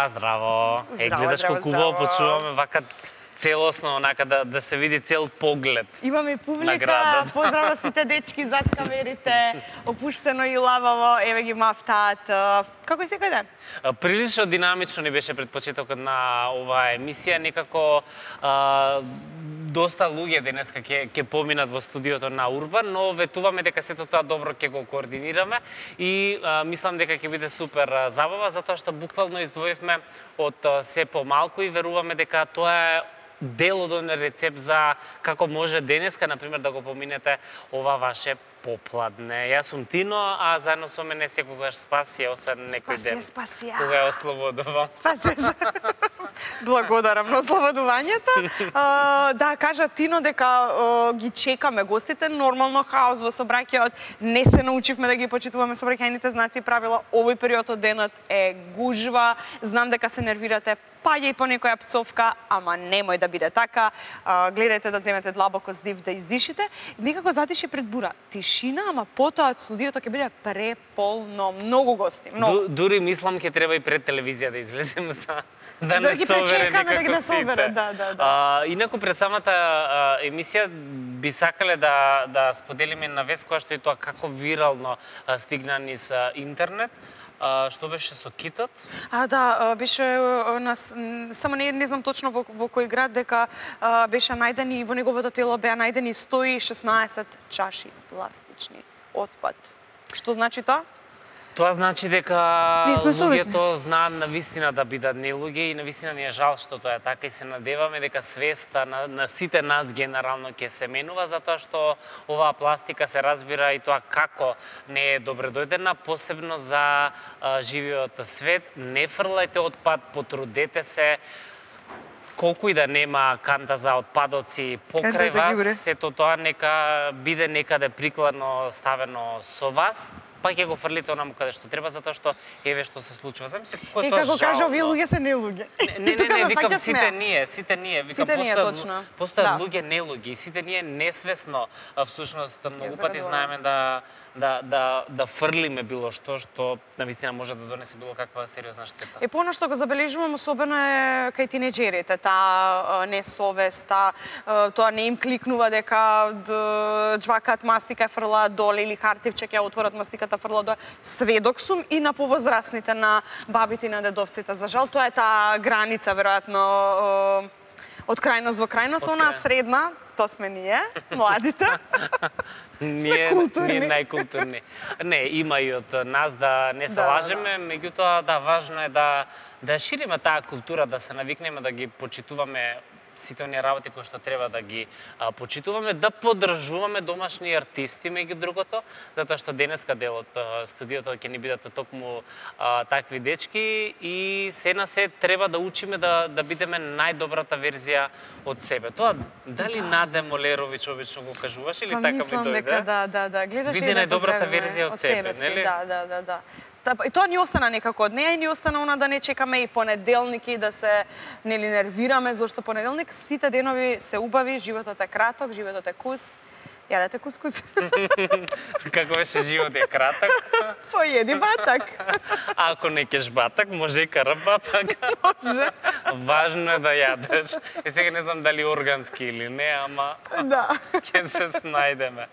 Здраво. Гледаш колку убаво почуваме вака целосно, онака да се види цел поглед. Имаме публика, поздрава сите дечки зад камерите, опуштено и лававо, еве ги мафтаат. Како е секој ден? Прилично динамично ни беше пред почетокот на оваа емисија, некако доста луѓе денеска ќе поминат во студиото на Урбан, но ветуваме дека сето тоа добро ќе го координираме и мислам дека ќе биде супер забава, затоа што буквално издвоивме од се помалку и веруваме дека тоа е дел од рецепт за како може денеска, например, да го поминете ова ваше попладне. Јас сум Тино, а заедно со мене секогаш Спасија, освен некој ден. Спасија. Кога е ослободувам. Спасија. Благодарам на ослободувањето. Да, кажа Тино дека ги чекаме гостите, нормално хаос во собраќајот, не се научивме да ги почитуваме собраќајните знаци и правила. Овој период од денот е гужва, знам дека се нервирате, паѓа и по некоја пцовка, ама немој да биде така. Гледајте да земете длабоко здив да издишите. Некако затише пред бура. Тишина, ама потоа студиото ќе биде преполно, многу гости, многу. Дури мислам ќе треба и пред телевизија да излезем да не ги пречекаме да ги не собере, да. Инаку пред самата емисија би сакале да споделиме на вест која што е тоа како вирално стигна низ интернет. Што беше со китот? Да, беше само не знам точно во кој град, дека беше најдени и во неговото тело беа најдени 116 чаши пластични отпад. Што значи тоа? Тоа значи дека луѓето знаат навистина да бидат нелуѓе и навистина ни е жал што тоа е така и се надеваме дека свеста на сите нас генерално ќе се менува, затоа што оваа пластика се разбира и тоа како не е добредојдена, посебно за живиот свет. Не фрлајте отпад, потрудете се, колку и да нема канта за отпадоци покрај вас, сето тоа нека биде некаде прикладно ставено со вас, па ќе го фрлите онаму каде што треба, затоа што еве што се случува. Замисли колку е тоа жално. Како кажа, овие луѓе се нелуѓе. Не, викам сите ние, викам постојат луѓе нелуѓе и сите ние несвесно всушност многу пати знаеме да фрлиме било што навистина може да донесе било каква сериозна штета. Она што го забележувам особено е кај тинеџерите, таа несовест, тоа не им кликнува дека џвакаат мастика и фрлаат доле или хартивче ќе отворат мастиката фрлаат доле. Сведок сум и на повозрасните, на бабите и на дедовците. За жал тоа е таа граница веројатно од крајност во крајност, онаа средна, тоа сме ние, младите. Сме културни. Ние најкултурни. Не, има и од нас да не се лажеме, меѓутоа да важно е да шириме таа култура, да се навикнеме да ги почитуваме сите оние работи кои што треба да ги почитуваме, да поддржуваме домашни артисти меѓу другото, затоа што денеска дел од студиото ќе ни бидат токму такви дечки и се на се треба да учиме да бидеме најдобрата верзија од себе. Тоа дали Наде Молерович обично го кажуваш или така ми дојде? Мислам дека да, гледаш биде најдобрата верзија од себе, нели? Да. И тоа ни остана некако од неа и ни остана она да не чекаме и понеделник и да се нервираме, зашто понеделник сите денови се убави, животот е краток, животот е кус. Јадете кускус. Како беше живот е краток? Поеди батак. Ако не кеш батак, може и карабатак. Може. Важно е да јадеш. И сега не знам дали органски или не, ама ќе се снајдеме.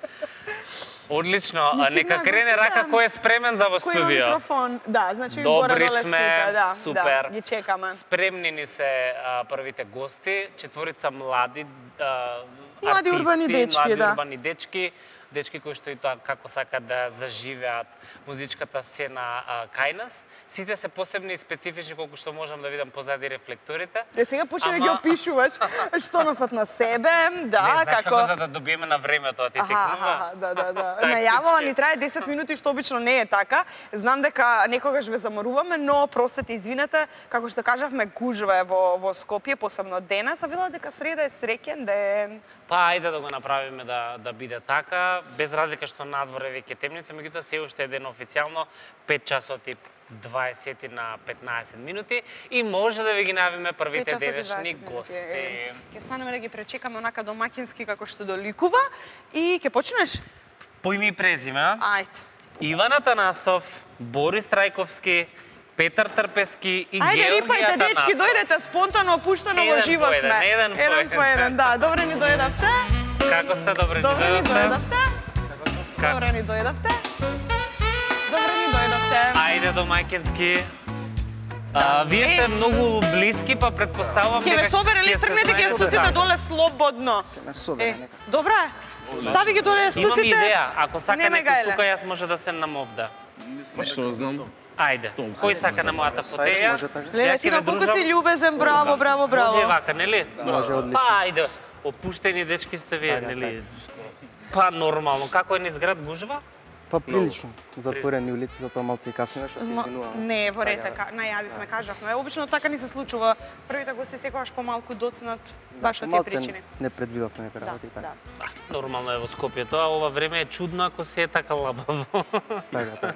Одлично, нека крене Рака кој е спремен за во студио. Кој има микрофон, значи добри горе-доле сите, супер. Ги чекаме. Спремни ни се првите гости, четворица млади млади урбани дечки, дечки кои што и тоа како сакат да заживеат музичката сцена кај нас. Сите се посебни и специфични колку што можам да видам позади рефлекторите. Сега почне да ги опишуваш што носат на себе, како за да добиеме на времето да ти текнува. Да. Најавава ни трае 10 минути, што обично не е така. Знам дека некогаш ве заморуваме, но простете, извинете, како што кажавме, гужва е во Скопје, посебно денес, а вела дека среда е среќен ден. Па ајде да го направиме да биде така, без разлика што надвор е веќе темница, меѓутоа се уште е ден официјално 5 часот и 20 на 15 минути и може да ви ги навиме првите денешни гости. Ќе станеме да ги пречекаме онака домакински како што доликува и ќе почнеш? По име и презиме. Ајде. Иван Атанасов, Борис Трајковски, Петар Трпески и Ајде, Георгија рипајте, Атанасов. дечки, дојдете спонтано, опуштено во живо сме. Еден по еден, да. Добре ни дојдавте. Како сте, добре ни Добре ни дојдовте? дојдавте. Добре ни дојдавте. Добре ни дојдавте. Ајде до мајкински. Вие сте многу блиски, па предпоставувам Ќе ме собере ли, тргнете ги стуците доле слободно. Ќе ме собере нека. Добре. Стави ги доле стуците. Имам идеја, ако сака Не ме некој гајле. тука, јас може да се намовда. Што знам? Ајде, кој сака на мојата фотеја? Може така. Леле, ти на колку си љубезен, браво, браво, браво. Може вака, нели? Може, одлично. Па, ајде, опуштени дечки сте вие, нели? Па, нормално. Како е низ град гужва? Па прилично. Затворени улици, затоа малце и каснеме, што се извинувам. Не, во ред, најавивме, кажавме. Обично така ни се случува. Првите гости секогаш помалку доцнат баш од тие причини. Не предвидовме нека Да, работи и така. да. Нормално е во Скопје тоа, ова време е чудно ако се е така лабаво. Така.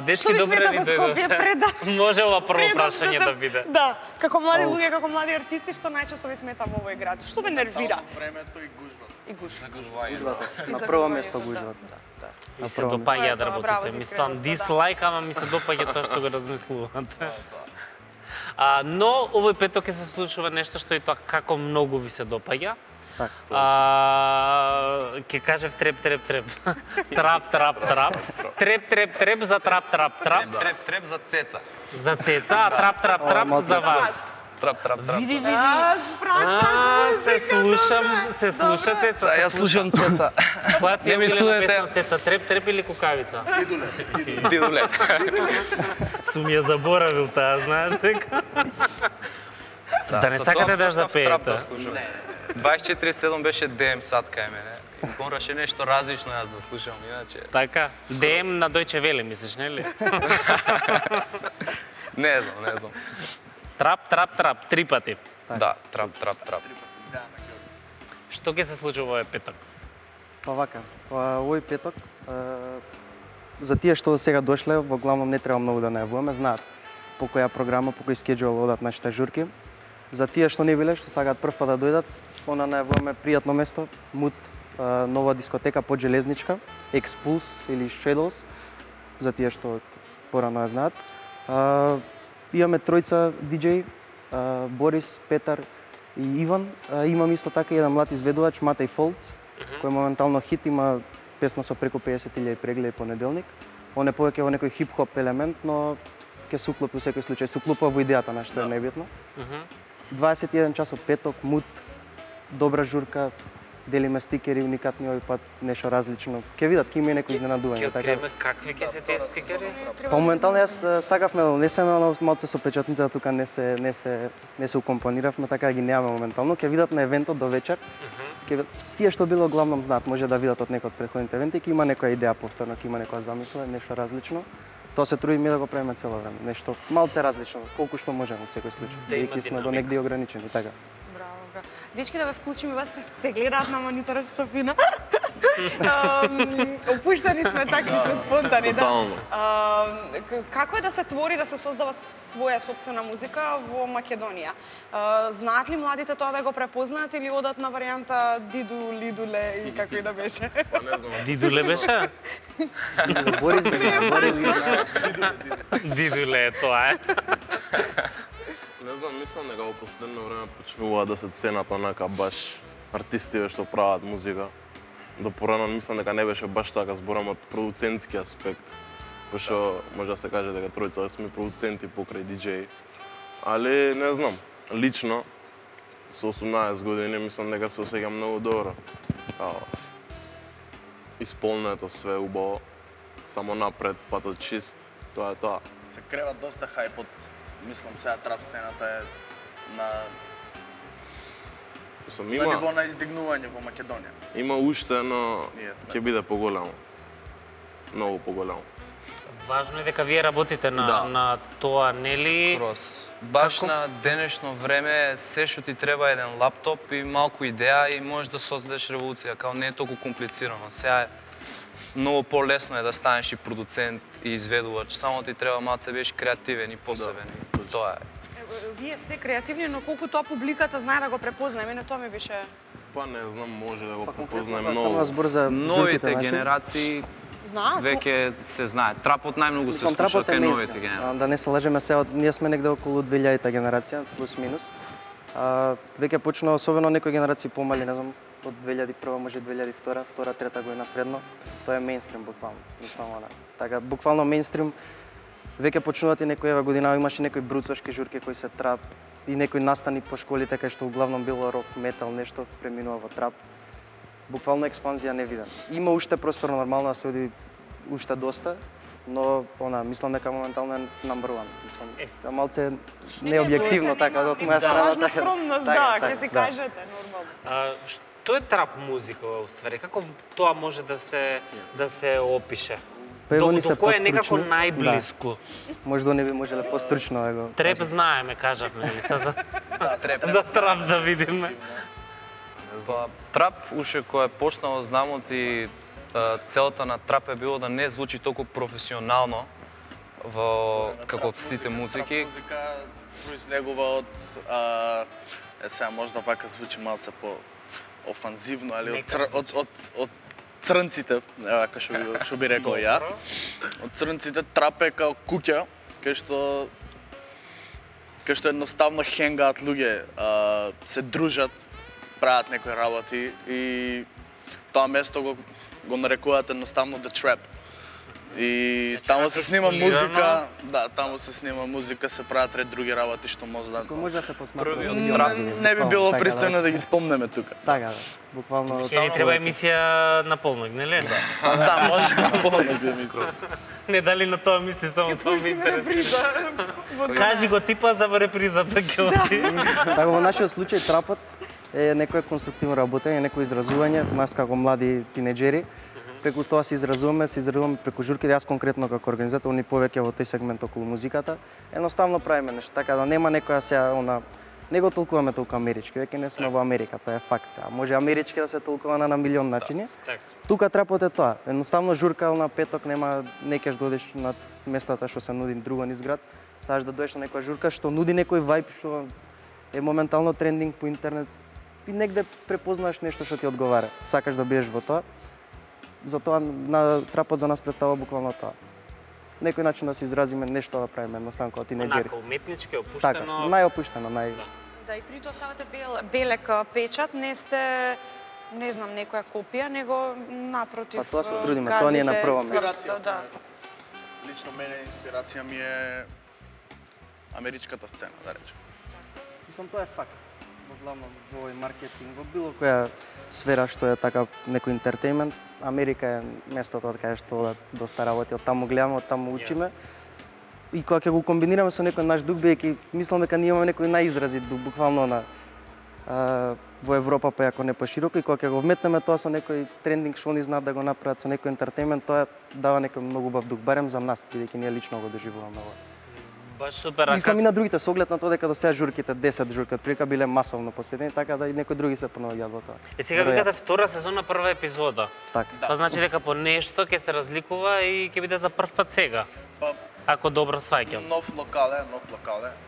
Дечки, Што ви добре смета ни во Скопје дојдовте. преда? Може ова прво Предам прашање да биде. Да, како млади луѓе, како млади артисти, што најчесто ви смета во овој град? Што ве нервира? Времето и гужвата. И гушвата. Гужвата. И На за прво гужвање, место да, гужвата. Ми се Тоа е допаѓа да тоа, браво работите. за Мислам, искреноста, да. дислайк, ама ми се допаѓа тоа што го размислувате. Но овој петок ќе се случува нешто што и тоа како многу ви се допаѓа. Така. Ќе кажев треп, треп, треп. Трап, трап, трап. Треп, треп, треп за трап, трап, трап. Треп за цеца. За цеца, а трап, трап, трап за вас. Трап, трап, трап. Види, види. Спратна Се слушате. Да, јас слушам цеца. Која ти Не е ми милена слушате. песна цеца? Треп, треп или кукавица? Дидуле. Сум ја заборавил таа, знаеш дека? Да не сакате да запеете. 24/7 беше ДМ сад кај мене. Мораше нешто различно јас да слушам, иначе. Така? ДМ на Дојче Веле, мислиш, нели? Не знам. Трап, трап, трап, 3 пати. Да, трап, трап, трап. Што ќе се случи овој петок? Па вака, овој петок, за тие што сега дошле, во главном не треба многу да најавуваме, знаат по која програма, по кој скеџул одат нашите журки. За тие што не биле, што сакаат прв пат да дојдат, она најавуваме пријатно место, Мут, нова дискотека под Железничка, Expulse или Shadows, за тие што порано ја знаат. Имаме тројца диџеи, Борис, Петар и Иван. Имам исто така еден млад изведувач, Матеј Фолц, кој моментално хит, има песна со преку 50.000 прегледи понеделник. Он е повеќе во некој хип-хоп елемент, но ќе се уклопи во секој случај, се уклопува во идејата на што е најбитно. 21 часот петок, Мут, добра журка, делиме стикери, уникатни овој пат, нешто различно. Ќе видат, ќе има и некои изненадувања. Ќе откриеме какви ќе се тие стикери? Па моментално јас сакавме да донесеме, но малце со печатница тука не се укомпониравме, така да ги немаме моментално. Ќе видат на евентот до вечер. Тие што било главном знаат, може да видат од некој од претходните евенти, ќе има некоја идеја повторно, ќе има некоја замисла, нешто различно. Тоа се трудиме да го правиме цело време, нешто малце различно, колку што можеме во секој случај. има Бидејќи сме до негде ограничени, така. Браво. Дечки, да ве вклучим и вас, се гледаат на мониторот што фина. Опуштени сме, такви сме спонтани, да. Како е да се твори, да се создава своја собствена музика во Македонија? Знаат ли младите тоа да го препознаат или одат на варијанта Диду, Лидуле и како и да беше? Дидуле беше? Борис ги знае. Дидуле е тоа е. Не знам, мислам дека во последно време почнува да се ценат онака баш артистите што прават музика. До порано мислам дека не беше баш така, зборам од продуцентски аспект. Пошто може да се каже дека тројца сме продуценти покрај диџеи. Али не знам, лично со 18 години мислам дека се осеќам многу добро. Исполнето све убаво, само напред, патот чист, тоа е тоа. Се крева доста хајп од, мислам, сега трап сцената е на ниво на издигнување во Македонија. Има уште, но ќе биде поголемо. Многу поголемо. Важно е дека вие работите на тоа, нели? Скрос. Баш на денешно време се што ти треба еден лаптоп и малку идеја и можеш да создадеш револуција, као не е толку комплицирано. Сега е многу полесно е да станеш и продуцент и изведувач, само ти треба малце беше креативен и посебен. Тоа е. Вие сте креативни, но колку тоа публиката знае да го препознае, мене тоа ми беше... Па не знам, може да го Па препознаем конкретно многу. збор за Новите журките, генерации Знаат? Веќе се знае. Трапот најмногу се слуша кај новите генерации. Да не се лажеме сега, ние сме негде околу 2000-та генерација, плюс минус. Веќе почна особено некои генерации помали, не знам, од 2001 може 2002, втора, трета година средно. Тоа е мејнстрим буквално, мислам она. Така буквално мејнстрим. Веќе почнуваат и некои година имаше некои бруцошки журки кои се трап и некои настани по школите кај што углавном било рок, метал, нешто преминува во трап. Буквално експанзија не видам. Има уште простор нормално да се оди уште доста, но мислам дека моментално е number one. Мислам, се малце необјективно така од моја страна. Лажна скромност, да, ќе си кажете нормално. Што е трап музика уствари? Како тоа може да се опише? До кој е некако најблиску? Можда не би можеле постручно да го. Треп знаеме, кажавме, за трап да видиме. Во трап уште кој е почнал знамот и целата на трап е било да не звучи толку професионално во како сите музики. Музика произлегува од сега можда вака звучи малце по офанзивно, али од црнците, вака што би рекол ја. Од црнците трап е као куќа, кај што едноставно хенгаат луѓе, се дружат, прават некои работи и тоа место го нарекуваат едноставно The Trap. И таму се снима музика, таму се снима музика, се прават ред други работи што може да се посмatra. Не би било пристојно да ги спомнеме тука. Така, буквално. Ќе ни треба емисија на полнок, нели? Да, може на полнок емисија. Не дали на тоа мисли само тоа ми интересира. Кажи го типа за репризата ќе оди. Така во нашиот случај трапот е некое конструктивно работење, некое изразување, нас како млади тинеџери. Преку тоа се изразуваме преку журките, јас конкретно како организатор, ни повеќе во тој сегмент околу музиката. Едноставно правиме нешто, така да нема некоја сега не го толкуваме толку амерички, веќе не сме во Америка, тоа е факт сега. Може амерички да се толкува на милион начини. Тука трапот е тоа. Едноставно журка на петок не кеш додеш на местата што се нуди друго низ град, сакаш да доеш на некоја журка што нуди некој вајб што е моментално трендинг по интернет и негде препознаш нешто што ти одговара. Сакаш да биеш во тоа. Затоа на трапот за нас представува буквално тоа. Некој начин да се изразиме, нешто да правиме, едноставно како тинеџери. Онака уметнички, опуштено. Така, најопуштено, Да, и при тоа ставате белек печат, не сте, не знам, некоја копија, него напротив. Па тоа се трудиме, тоа ни е на прво место. Да. Лично мене инспирација ми е америчката сцена, да речем. Мислам, тоа е факт. Во главном во маркетинг, во било која сфера што е така некој интертејмент, Америка е местото од каде што одат доста работи, од таму гледаме, од таму учиме. И кога ќе го комбинираме со некој наш дух, бидејќи мислам дека ние имаме некој најизразит дух, буквално во Европа, па ако не пошироко, и кога ќе го вметнеме тоа со некој трендинг што они знаат да го направат, со некој интертејмент, тоа дава некој многу убав дух, барем за нас, бидејќи ние лично го доживуваме ова. Баш супер. Мислам и на другите, со оглед на тоа дека до сега журките, 10 журки од прилика биле масовно посетени, така да и некои други се понаоѓаат во тоа. Сега викате втора сезона, прва епизода. Така. Тоа значи дека по нешто ќе се разликува и ќе биде за прв пат сега. Ако добро сваќам. Нов локале.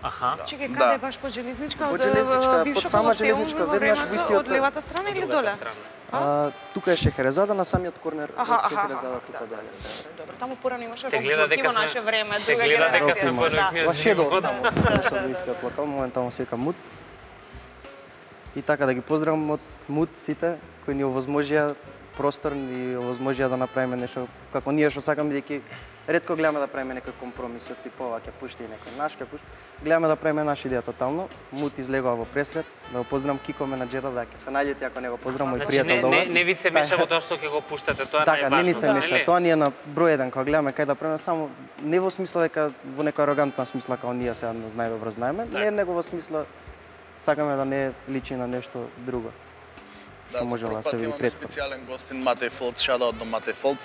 Аха. Чекај, каде баш по железничка, од бивша сама Колосеум железничка, во веднаш во времето, истиот од левата страна или доле? Тука е Шехерезада на самиот корнер, Шехерезада тука доле. Добро, таму порано имаше Се гледа журки дека во сме- наше време, се друга гледа дека се генерација. зборуваме Во за Шедол живот. таму, што во истиот локал, моментално се вика Мут. И така да ги поздравам од Мут сите кои ни овозможија простор и овозможија да направиме нешто како ние што сакаме, бидејќи ретко гледаме да правиме некој компромис од типова ќе пушти некој наш, ќе пушти. Гледаме да правиме наша идеја тотално. Мут излегува во пресред, да го поздравам Кико менаџерот, да ќе се најдете ако не го поздравам, мој Значи пријател добар. не ви се меша во тоа што ќе го пуштате, тоа е Така, не ни најважно. се меша. Тоа ни е на број еден кога гледаме кај да правиме, само не во смисла дека во некоја арогантна смисла како ние сега најдобро знаеме, не него во смисла сакаме да не личи на нешто друго. Што можела да се види имаме претходно. специјален гостин Матеј Фолц, шадаут до Матеј Фолц.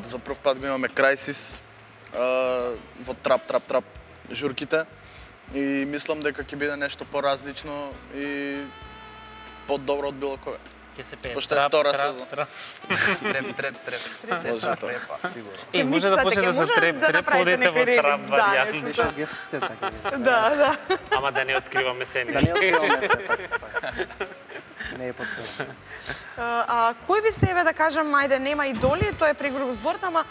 За прв пат го имаме Крайсис во трап журките и мислам дека ќе биде нешто поразлично и подобро од било кога. Ќе се пее. Пошто е втора сезон. Треп. Може тоа. Е, може да почне да се треп, подете во трап варијанта. Беше гест Цеца. Да. Ама да не откриваме Да сенички. не откриваме се така. Не е потпора. Кој ви се еве да кажем, ајде нема идоли, тоа е прегруп збор, ама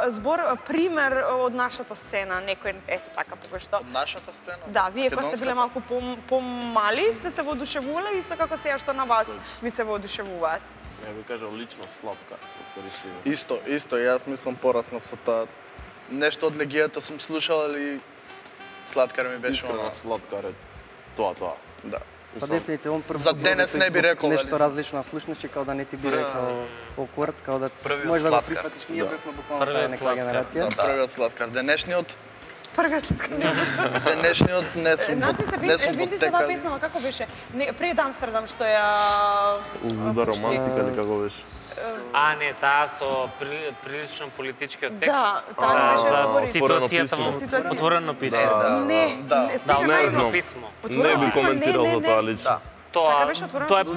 збор пример од нашата сцена, некој ете така покој што. Од нашата сцена? Да, вие кога сте биле малку помали, сте се воодушевувале исто како сега што на вас ви се воодушевуваат. Ја би кажал лично сладкаристи. Исто, јас мислам пораснав со тоа. Нешто од легијата сум слушал, али Сладкар ми беше Искрена Сладкар е тоа. Да. Па дефинитивно За денес не би рекол нешто различно на слушнеш, као да не ти биде као оквард, као да можеш да го прифатиш, ние бевме буквално таа некоја генерација. Првиот Сладкар, денешниот Првиот Сладкар. денешниот не сум Нас не се види се оваа песнава како беше? Пред Амстердам што ја Луда романтика или како беше? Не, таа со прилично политичкиот текст. Да, таа не беше за ситуацијата во отворено писмо. Не, сега најно писмо. Не би коментирал за тоа лично. Тоа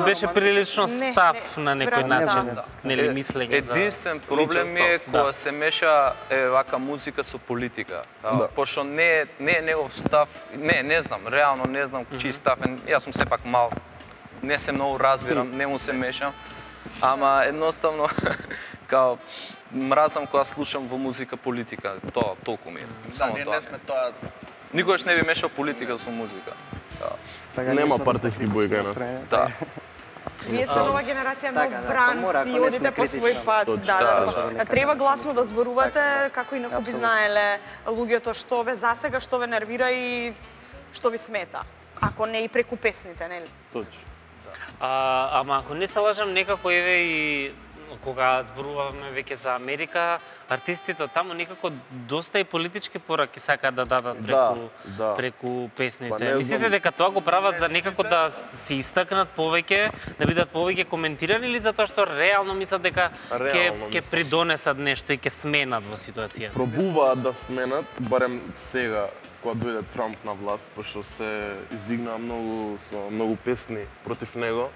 беше прилично став на некој начин, нели мислење за... Единствен проблем е кога се меша вака музика со политика. Пошто не е негов став, не знам, реално не знам чиј став е. Јас сум сепак мал, не се многу разбирам, не му се мешам. Ама едноставно, као, мразам кога слушам во музика политика, тоа толку ми е. Само тоа. Не сме тоа. Никогаш не би мешал политика со музика. Нема партиски бој кај нас. Да. Вие сте нова генерација, нов бранд, си одите по свој пат. Треба гласно да зборувате, како инаку би знаеле луѓето што ве засега, што ве нервира и што ви смета. Ако не и преку песните, нели? Точно. Ама ако не се лажам, некако еве и кога зборуваме веќе за Америка, артистите таму некако доста и политички пораки сакаат да дадат преку песните. Мислите дека тоа го прават за некако да се истакнат повеќе, да бидат повеќе коментирани или затоа што реално мислат дека ќе придонесат нешто и ќе сменат во ситуацијата? Пробуваат да сменат, барем сега кога дојде Трамп на власт, пошто се издигнаа многу песни против него,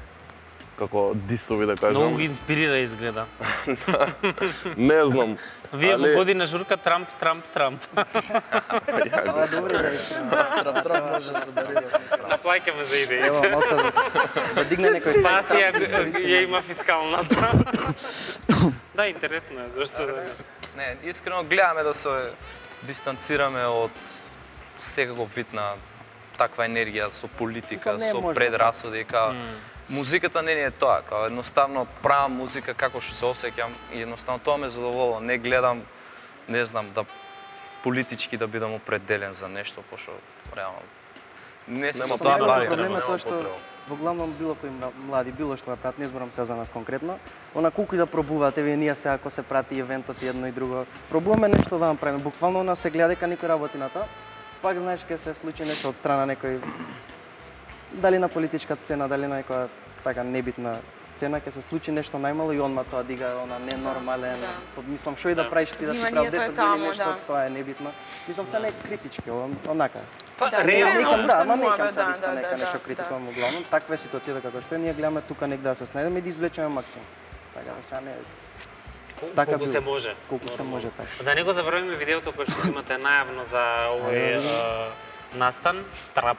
како дисови да кажам. Многу ги инспирира изгледа. Не знам. Вие во година журка Трамп. Ова добро да Трамп може да забере. Наплаќаме за идеја. Ево, малце да дигне некој... Спасија ја има фискалната. Да, интересно е, зашто да не. Не, искрено гледаме да се дистанцираме од секаков вид на таква енергија со политика, со предрасуди, као музиката не е тоа, као едноставно правам музика како што се осеќам и едноставно тоа ме задоволува, не гледам, не знам, да политички да бидам определен за нешто, пошто реално не се со тоа бавим. Проблемот е тоа што во главном било кои млади, било што да прават, не зборам сега за нас конкретно, она колку и да пробуваат, еве ние сега ако се прати евентот едно и друго, пробуваме нешто да направиме, буквално она се гледа дека никој работи на тоа, пак знаеш ќе се случи нешто од страна некој, дали на политичката сцена, дали на некоја така небитна сцена, ќе се случи нешто најмало и онма тоа дига она ненормален, мислам што и да правиш ти да си прав 10 години нешто, тоа е небитно. Мислам се не критички, онака. Реално некам се диска нека нешто критикувам главно, таква е ситуацијата како што е, ние гледаме тука негде да се снајдеме и да извлечеме максимум. Така да сега не колку се може. Колку се може така. Да не го забораваме видеото кое што имате најавно за овој настан, трап.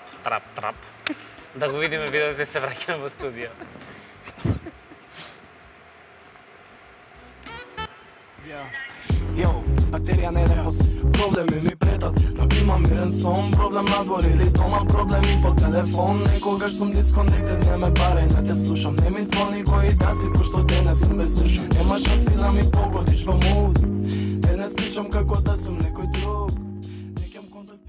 Да го видиме видеото и се враќаме во студио. Йо, бактерија не е проблеми ми претат, но имам мирен сон, проблем надвор или дома, проблеми по телефон, некогаш сум дисконектед, не ме барај, не те слушам, не ми звони кој да си, пошто денес сум без слушам, нема шанси да ми погодиш во муд, денес сличам како да сум некој друг, некам контакт...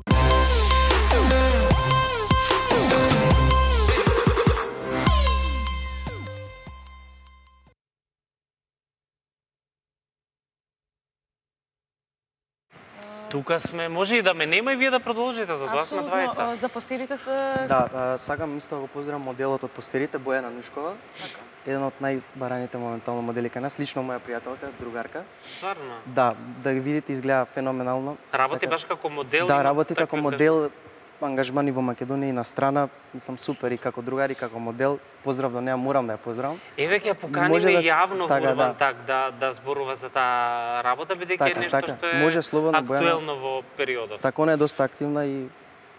Тука сме, може и да ме нема и вие да продолжите, за тоа сме двајца. Апсолутно, за постерите се... Да, сакам исто да го поздравам моделот од постерите, Бојана Нушкова. Еден од најбараните моментално модели кај нас, лично моја пријателка, другарка. Стварно? Да, да ги видите изгледа феноменално. Работи баш како модел? Да, работи како модел, ангажмани во Македонија и на страна, мислам супер и како другар и како модел. Поздрав до неа, морам да ја поздравам. Еве ќе ја поканиме јавно во Урбан Так да зборува за таа работа, бидејќи е нешто што е може слободно, актуелно во периодот. Така, она е доста активна и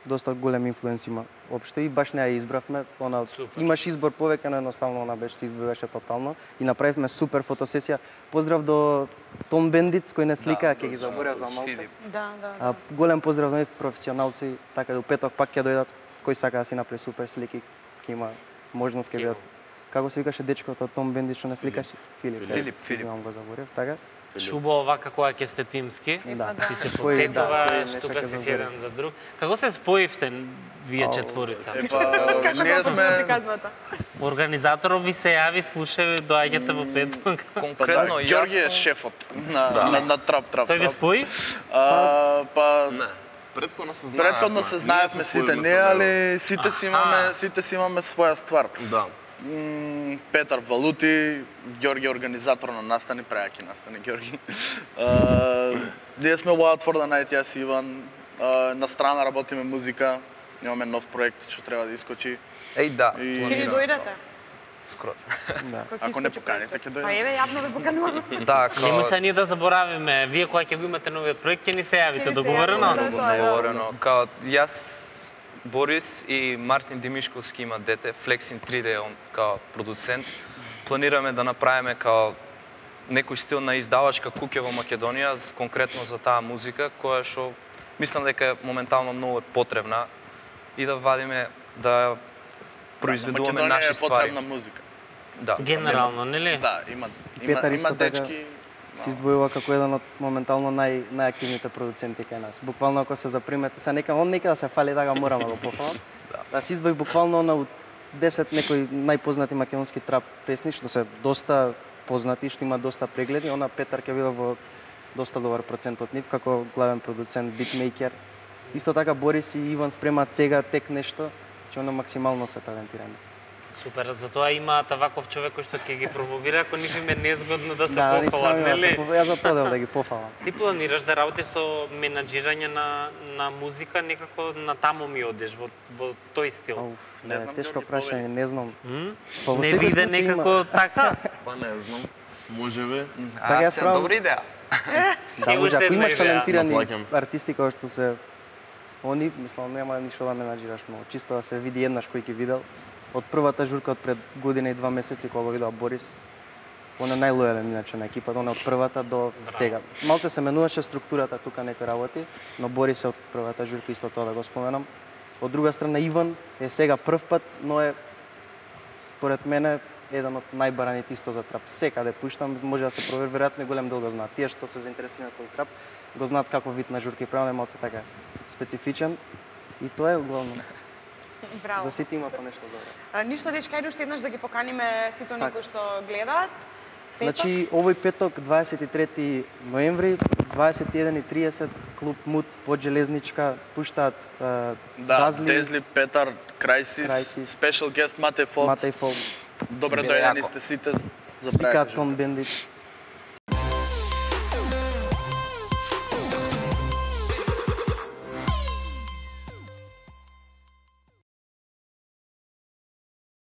доста голем инфлуенс има општо и баш не ја избравме, она имаш избор повеќе, но едноставно она беше се избиваше тотално и направивме супер фотосесија. Поздрав до Том Бендиц кој не слика, ќе ги заборев за малце. Да. Голем поздрав до професионалци, така да у петок пак ќе дојдат, кој сака да си направи супер слики, ќе има можност ќе бидат. Како се викаше дечкото Том Бендиц што не сликаше? Филип. Имам го заборев, така. Чубо овака кога ќе сте тимски, ти се подсетуваш, тука си еден за друг. Како се споивте вие четворица? Ние сме Организаторов ви се јави, слушај, доаѓате во петок. Конкретно јас Ѓорги е шефот на трап. Тој ви спои? Не. Предходно се знаевме сите ние, али сите си имаме своја ствар. Да. Петар Валути, Ѓорги организатор на настани, преаки настани Ѓорги. Ние сме Wild for the Night, јас и Иван. На страна работиме музика, имаме нов проект што треба да искочи. Да. Ќе ни дојдете? Скроз. Ако не поканите, ќе дојдеме. Па еве, јавно ве покануваме. Да, Нема се ние да заборавиме, вие кога ќе го имате новиот проект, ќе ни се јавите, договорено? Договорено. Као јас, Борис и Мартин Димишковски има дете, Flexin 3D, он као продуцент. Планираме да направиме као некој стил на издавачка куќа во Македонија, конкретно за таа музика, која што мислам дека моментално многу е потребна и да вадиме, да произведуваме наши ствари. Македонија е потребна музика. Да. Генерално, нели? Да, има дечки. Се издвојува како еден од моментално најактивните продуценти кај нас. Буквално ако се запримете, он нека да се фали да морам да го пофалам. Да се издвои буквално на 10 некои најпознати македонски трап песни што се доста познати, што има доста прегледи. Она Петар ќе биде во доста добар процент од нив како главен продуцент, битмейкер. Исто така Борис и Иван спремаат сега тек нешто, че она максимално се талентирани. Супер, затоа имаат ваков човек кој што ќе ги промовира, ако нив им е незгодно да се пофалат, нели? Јас затоа да ги пофалам. Ти планираш да работиш со менаџирање на музика, некако на таму ми одеш во тој стил? Не знам, тешко прашање, не знам. Не виде некако така? Па не знам. Можеби. Така се добра идеја. Да, може, ако имаш талентирани артисти кои што се они, мислам, нема ништо да менаџираш многу, чисто да се види еднаш кој ќе видел. Од првата журка од пред година и 2 месеци кога го видел Борис, он е најлојален иначе на екипата, он е од првата до сега. Малце се менуваше структурата тука некои работи, но Борис е од првата журка, исто тоа да го споменам. Од друга страна Иван е сега прв пат, но е според мене еден од најбараните исто за трап. Секаде пуштам, може да се провери, веројатно голем дел го знаат. Тие што се заинтересирани од трап, го знаат каков вид на журка и правилно е малце така специфичен и тоа е главно. Браво. За сите има по нешто добро. Ништо дечка, ајде уште еднаш да ги поканиме сите оние кои што гледаат. Значи, овој петок, 23 ноември, 21:30, клуб Мут под Железничка, пуштаат Дазли, Петар, Крайсис, спешал гест Матеј Фолц. Добре дојдени сте сите за свикаат Том Бендиц.